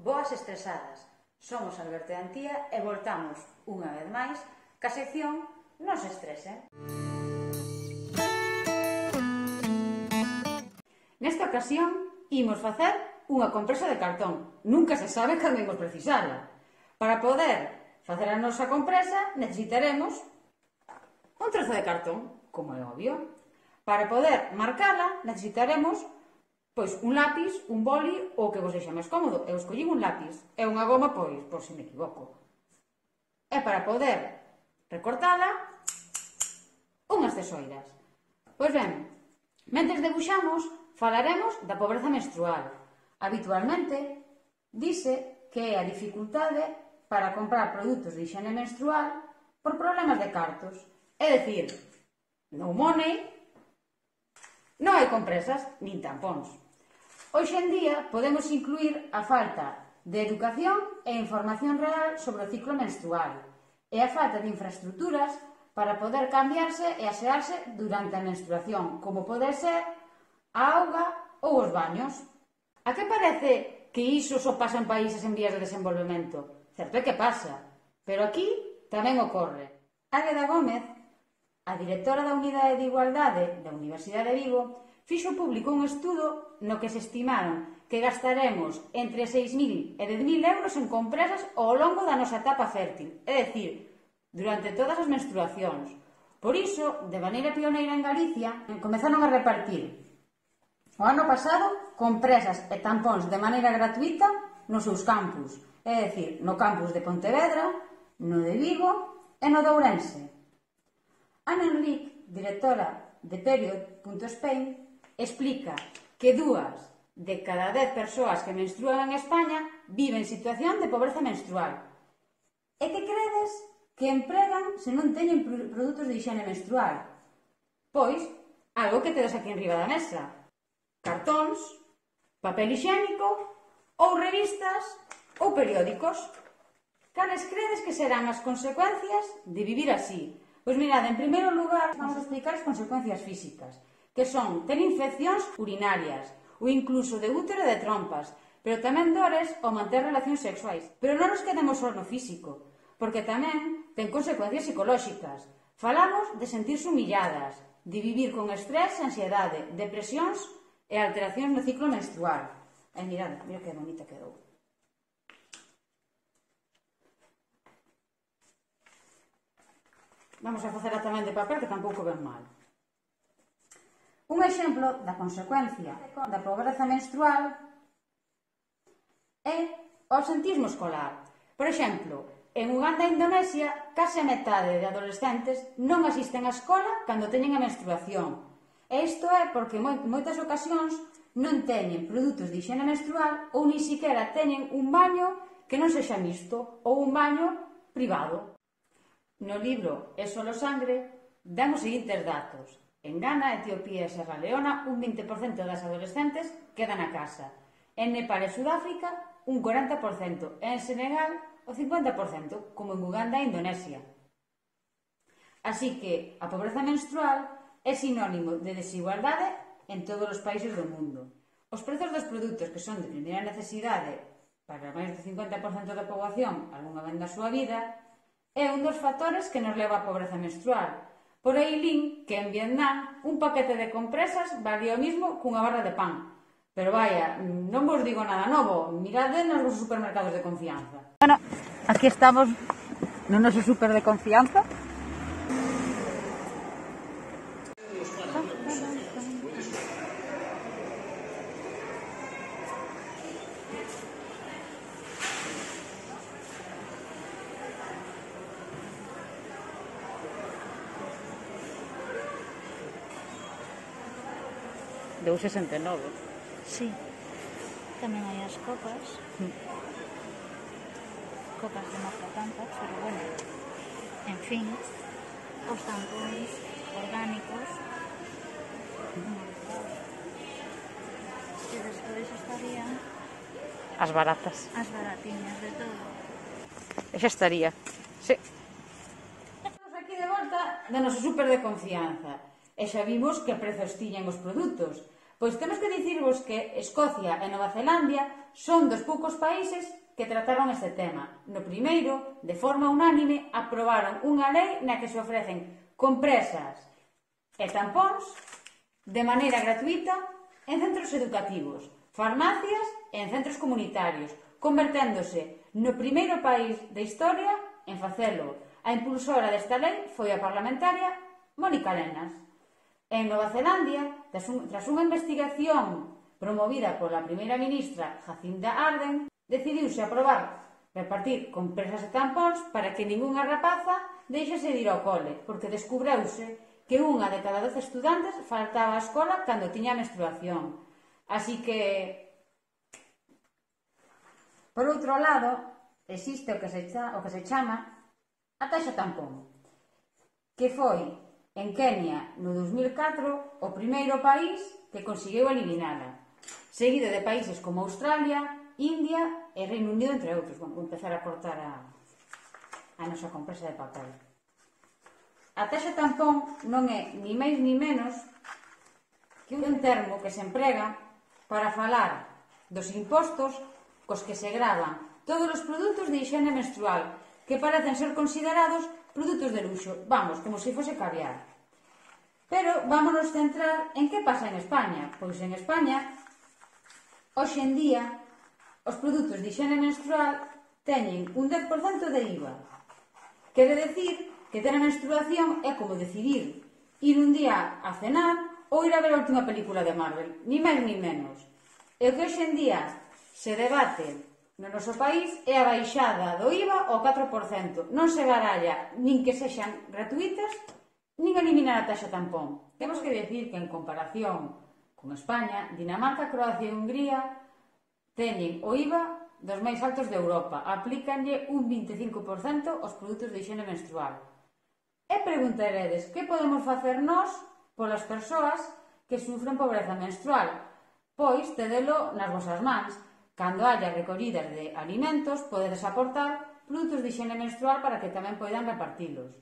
Boas estresadas, somos Alberto e Antía e voltamos, unha vez máis, ca sección Non se estresen. Nesta ocasión, imos facer unha compresa de cartón. Nunca se sabe cando imos precisala. Para poder facer a nosa compresa, necesitaremos un trozo de cartón, como é obvio. Para poder marcala, necesitaremos un lápis, un boli ou o que vos deixa máis cómodo. Eu escollín un lápis e unha goma, por se me equivoco. E para poder recortala, unhas tesoiras. Pois ben, mentres debuxamos, falaremos da pobreza menstrual. Habitualmente, dise que é a dificultade para comprar produtos de higiene menstrual por problemas de cartos. É dicir, no money, non hai compresas nin tampóns. Hoxe en día podemos incluir a falta de educación e información real sobre o ciclo menstrual e a falta de infraestructuras para poder cambiarse e asearse durante a menstruación, como pode ser a auga ou os baños. A que parece que iso só pasa en países en vías de desenvolvemento? Certo é que pasa, pero aquí tamén ocorre. Águeda Gómez, a directora da Unidade de Igualdade da Universidade de Vigo, fixo público un estudo no que se estimaron que gastaremos entre 6.000 e 10.000 euros en compresas ao longo da nosa etapa fértil, é dicir, durante todas as menstruacións. Por iso, de maneira pioneira en Galicia, comezaron a repartir o ano pasado compresas e tampóns de maneira gratuita nos seus campus, é dicir, no campus de Pontevedra, no de Vigo e no de Ourense. Ana Enrique, directora de Period.Spain, explica que 2 de cada 10 persoas que menstrúan en España viven en situación de pobreza menstrual. E que credes que empregan se non teñen produtos de higiene menstrual? Pois, algo que tedes aquí enriba da mesa. Cartóns, papel higiénico, ou revistas, ou periódicos. Cales credes que serán as consecuencias de vivir así? Pois mirad, en primeiro lugar, vamos a explicar as consecuencias físicas, que son ter infeccións urinarias, ou incluso de útero e de trompas, pero tamén dores ao manter relacións sexuais. Pero non nos quedemos só no físico, porque tamén ten consecuencias psicolóxicas. Falamos de sentirse humilladas, de vivir con estrés, ansiedade, depresións e alteracións no ciclo menstrual. E mirad, mira que bonita quedou. Vamos a facela tamén de papel, que tampouco ven mal. Un exemplo da consecuencia da pobreza menstrual é o absentismo escolar. Por exemplo, en Uganda e Indonesia, case a metade de adolescentes non asisten á escola cando teñen a menstruación. E isto é porque en moitas ocasións non teñen produtos de higiene menstrual ou ni siquiera teñen un baño que non sexa mixto ou un baño privado. No libro É solo sangre dan os seguintes datos. En Ghana, Etiopía e Serra Leona, un 20% das adolescentes quedan na casa. En Nepal e Sudáfrica, un 40%. E en Senegal, o 50%, como en Uganda e Indonesia. Así que a pobreza menstrual é sinónimo de desigualdade en todos os países do mundo. Os prezos dos produtos que son de primeira necesidade para máis do 50% da poboación algunha vez na súa vida é un dos factores que nos leva á pobreza menstrual. Por aí lin que en Vietnam un paquete de compresas valía o mismo cunha barra de pan. Pero vaya, non vos digo nada novo, mirade nos vosos supermercados de confianza. Bueno, aquí estamos no noso super de confianza. Deu 69. Sí. Tamén hai as copas. Copas de marca tanta, pero bueno. En fin, os tampóns orgánicos. E despois estarían As baratas. as baratiñas de todo. E xa estaría. Sí. Estamos aquí de volta do noso super de confianza. E xa vimos que prezos tiñan os produtos. Pois temos que dicirvos que Escocia e Nova Zelandia son dos poucos países que trataron este tema. No primeiro, de forma unánime, aprobaron unha lei na que se ofrecen compresas e tampóns de maneira gratuita en centros educativos, farmacias e en centros comunitarios, converténdose no primeiro país da historia en facelo. A impulsora desta lei foi a parlamentaria Mónica Lenas. En Nova Zelandia, tras unha investigación promovida pola primeira ministra Jacinda Ardern, decidiuse aprobar repartir compresas e tampóns para que ningunha rapaza deixase de ir ao cole, porque descubreuse que unha de cada 12 estudantes faltaba á escola cando tiña menstruación. Así que, por outro lado, existe o que se chama a taxa tampón, que foi en Kenia no 2004 o primeiro país que conseguiu eliminala, seguido de países como Australia, India e Reino Unido, entre outros. Vou empezar a cortar a nosa compresa de papel. A taxa tampón non é ni máis ni menos que un termo que se emprega para falar dos impostos cos que se gravan todos os produtos de higiene menstrual que parecen ser considerados produtos de luxo, vamos, como se fose caviar. Pero vámonos centrar en que pasa en España. Pois en España, hoxe en día, os produtos de higiene menstrual teñen un 10% de IVA. Quere decir que ter a menstruación é como decidir ir un día a cenar ou ir a ver a última película de Marvel, ni máis ni menos. E o que hoxe en día se debate no noso país é a baixada do IVA ao 4%. Non se baralla nin que sexan gratuitas, nin eliminar a taxa tampón. Temos que decir que en comparación con España, Dinamarca, Croacia e Hungría teñen o IVA dos máis altos de Europa. Aplícanlle un 25% aos produtos de higiene menstrual. E preguntaredes, que podemos facer nós polas persoas que sufren pobreza menstrual? Pois, tedelo nas vosas mans. Cando haya recollidas de alimentos, podedes aportar produtos de higiene menstrual para que tamén poidan repartilos.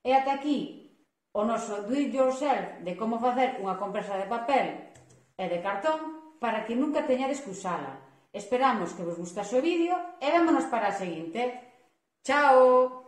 E ata aquí o noso do it yourself de como facer unha compresa de papel e de cartón para que nunca teñades que usala. Esperamos que vos gustase o vídeo e vémonos para a seguinte. Chao!